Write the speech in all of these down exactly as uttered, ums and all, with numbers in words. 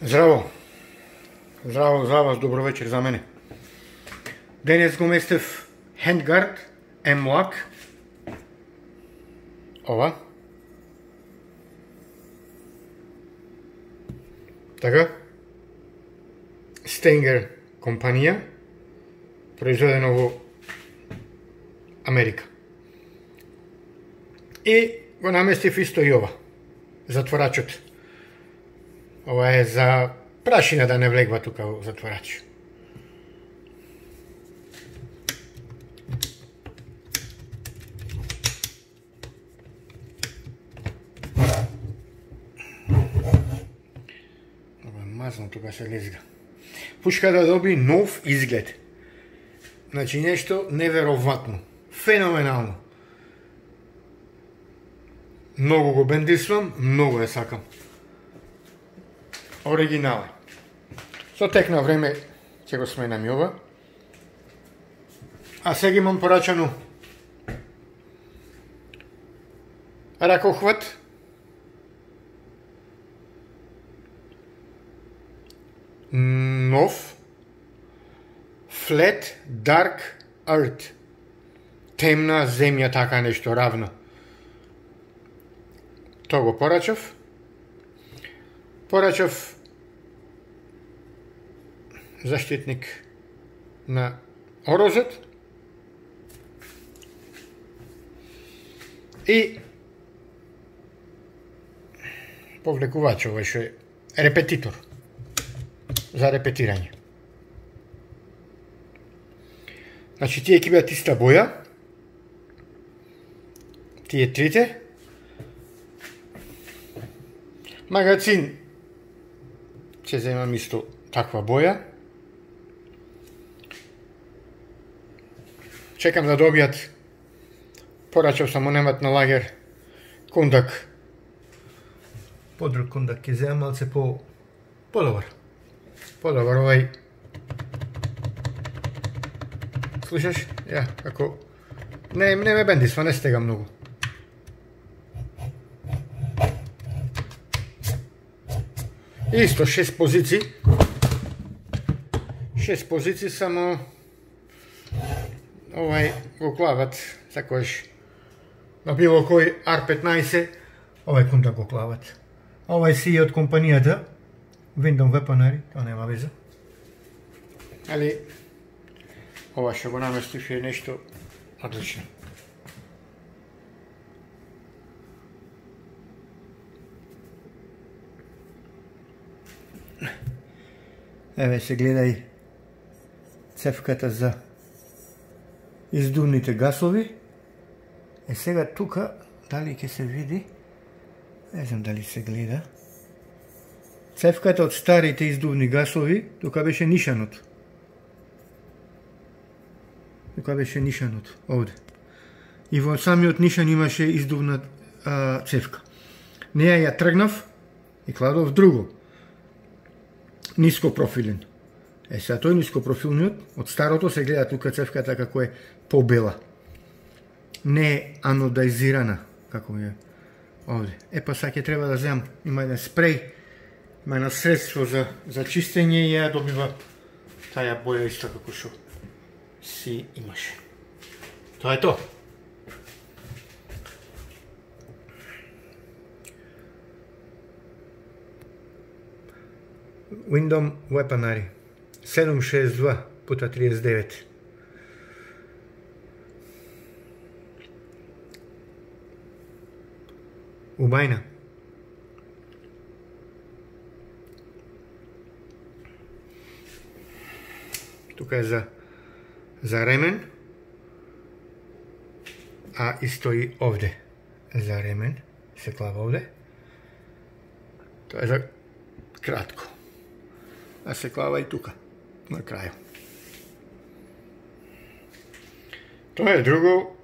Здраво! Здраво за вас, добро вечер за мене. Денес го местев Handguard M-Lock. Ова. Така. Stenger компанија, произведено во Америка. И го наместив исто и ова, затворачот. Ова е за прашина да не влегва тука во затворач. Ова е мазно, тука се лезга. Пушка да доби нов изглед. Значи нешто невероватно, феноменално. Многу го бендисвам, многу ја сакам. Оригинал е. Со тек на време ќе го сменам и ова. А сега имам порачано ракохват. Нов Flat Dark Earth. Темна земја, така нешто равно. Тоа го порачав. Порачав заштитник на орозот и повлекувач, ова што е репетитор за репетирање. Значи тие ќе бидат иста боја, тие трите. Магазин ќе земам исто таква боја. Чекам да добијат, порачав само немат на лагер кондак. Подруг кондак ќе земам, малце по подобар. Подобар овај. Слушаш? Ја, како не не ме бендисва, не стега многу. Исто шест позиции. Шест позиции, само овај го клават такош на било кој ар петнаесет, овај кондак го клават. Овај си е од компанијата Windom Weaponry, тоа нема веза. Али ова што го наместив е нешто одлично. Еве се гледај цевката за издувните гасови. Е сега тука, дали ќе се види? Не знам дали се гледа. Цевката од старите издувни гасови, тука беше нишанот. Тука беше нишанот, овде. И во самиот нишан имаше издувна а, цевка. Неја ја тргнав и кладов друго. Ниско профилен. Е, сега тој ниско профилниот, од старото се гледа тука цевката како е побела. Не е анодизирана, како е овде. Е, па сега ќе треба да земам, има еден спреј, има едно средство за, за чистење и ја добива таја боја исто како што си имаше. Тоа е тоа. Windom Weaponry седум шест два пута триесет девет. Убајна. Тука е за за ремен, а исто и овде за ремен, се клава овде. Тоа е за кратко. А се клава и тука, на крају. Тоа е друго,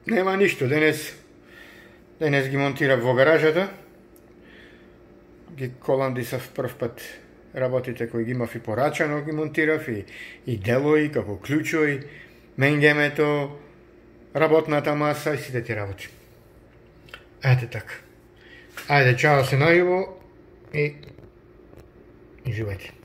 нема ништо. Денес, денес ги монтирав во гаражата. Ги коландисав прв пат работите кои ги имав и порачано, ги монтирав и, и делои, како клучои, менгемето, работната маса и сите ти работи. Ете така. Ајде, чао се најубаво и Живејте.